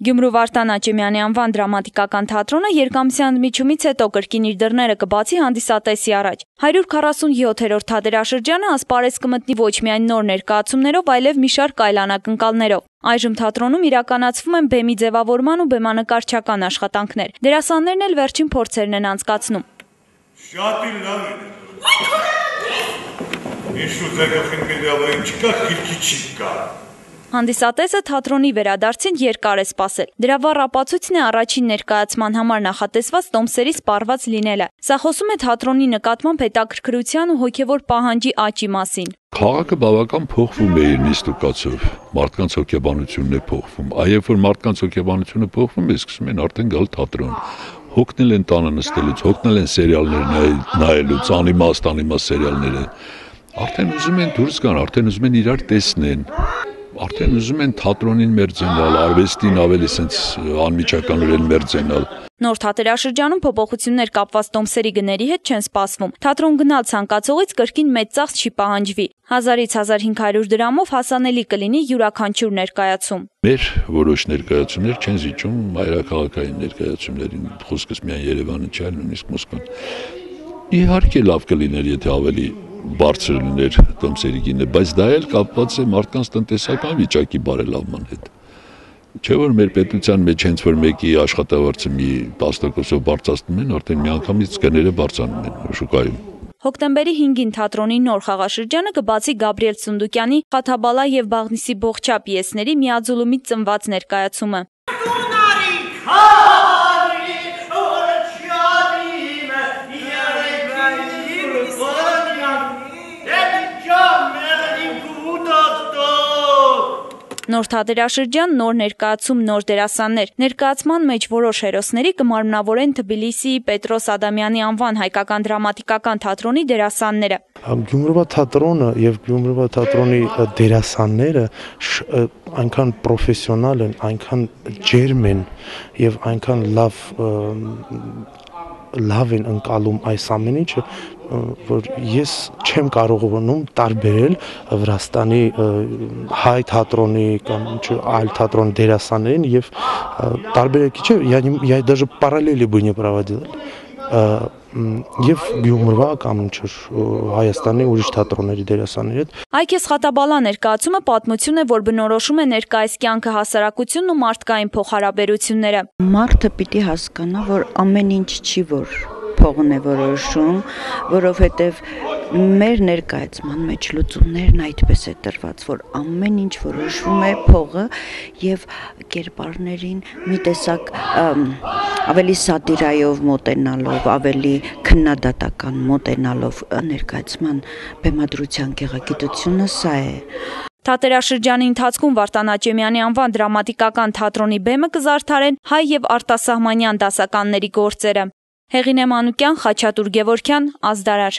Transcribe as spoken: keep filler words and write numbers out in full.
Գյումրու Վարդան Աճեմյանի անվան դրամատիկական թատրոնը երկամսյա ընդմիջումից հետո կրկին իր դռները կբացի հանդիսատեսի առաջ։ հարյուր քառասունյոթերորդ թատերաշրջանը ասպարեզ կմտնի ոչ միայն նոր ներկայացումներով, այլև մի շարք այլ անակնկալներով։ Այժմ թատրոնում իրականացվում են բեմի ձևավորման ու բեմանկարչական աշխատանքներ։ Դերասաններն էլ վերջին փորձերն են անցկացնում։ Շատ լավ է։ Ինչ ուզեքին գնալու չկա, քիչ չկա։ Հանդիսատեսը թատրոնի վերադարձին երկար է սպասել։ Դրա վառ ապացույցն է առաջին ներկայացման համար նախատեսված տոմսերի սպառված լինելը։ Սա խոսում է թատրոնի նկատմամբ հետաքրքրության ու հոգևոր պահանջի աճի մասին։ Քաղաքը բավական փոխվում է իր նիստուկացով, մարդկանց հոգեբանությունն է փոխվում, այ երբ որ մարդկանց հոգեբանությունը փոխվում է, սկսում են արդեն գալ թատրոն։ Հոգնել են տանը նստելուց, հոգնել են սերիալներ նայելուց, անիմաստ անիմաստ սերիալները։ Արդեն ուզում են դուրս գան, արդեն ուզում են իրար տեսնեն։ Արդեն ուզում են թատրոնին մերձենալ, արվեստին ավելի սենց անմիջականորեն մերձենալ։ Նոր թատերաշրջանում փոփոխություններ կապված տոմսերի գների հետ չեն սպասվում։ Թատրոն գնալ ցանկացողից կրկին մեծ ծախս չի պահանջվի։ հազարից հազար հինգ հարյուր դրամով հասանելի կլինի յուրաքանչյուր ներկայացում։ Մեր որոշ ներկայացումներ չեն զիջում հայրաքաղաքային ներկայացումներին, խոսքս միայն Երևանը չէ, այլ նույնիսկ Մոսկվան։ Իհարկե լավ կլիներ, եթե ավելի բարձր լիներ տոմսերի գինը, բայց դա էլ կապված է մարդկանց տնտեսական վիճակի բարելավման հետ։ Չէ՞ որ մեր պետության մեջ հենց որ մեկի աշխատավարձը մի տասնտոկոսով բարձրացնում են, արդեն միանգամից գները բարձրանում են շուկայում։ Հոկտեմբերի հինգին թատրոնի նոր խաղաշրջանը կբացի Գաբրիել Սունդուկյանի «Խաթաբալա» եւ «Բաղնիսի Բողջա» պիեսների միաձուլումից ծնված ներկայացումը։ Նոր թատերաշրջան, նոր ներկայացում, նոր դերասաններ։ Ներկայացման մեջ որոշ հերոսների կմարմնավորեն Թբիլիսիի Պետրոս Ադամյանի անվան հայկական դրամատիկական թատրոնի դերասանները։ Գյումրվա թատրոնը եւ Գյումրվա թատրոնի դերասանները այնքան պրոֆեսիոնալ են, այնքան ջերմ են եւ այնքան լավ լավ են ընկալում այս ամեն ինչը, որ ես չեմ կարողանում տարբերել Վրաստանի հայ թատրոնի կամ այլ թատրոն դերասաններին եւ տարբերակի չէ, я даже параллели бы не проводил եւ Գյումրվա կամ ինչ-որ Հայաստանի ուրիշ թատրոնների դերասանների հետ։ Այքես Խաթաբալա ներկայացումը պատմություն է, որ բնորոշում է ներկայիս կյանքը, հասարակությունն ու մարդկային փոխհարաբերությունները։ Մարդը պիտի հասկանա, որ ամեն ինչ չի, որ փողն է որոշում, որովհետև մեր ներկայացման մեջ լուծումներն այդպես է տրված, որ ամեն ինչ որոշվում է փողը եւ կերպարներին մի տեսակ ավելի սատիրայով մոտենալով, ավելի քննադատական մոտենալով ներկայացման բեմադրության գեղագիտությունը սա է։ Թատերաշրջանի ընթացքում Վարդան Աճեմյանի անվան դրամատիկական թատրոնի բեմը կզարդարեն հայ եւ արտասահմանյան դասականների գործերը։ Հեղինե Մանուկյան, Խաչատուր Գևորգյան, Ազդարար։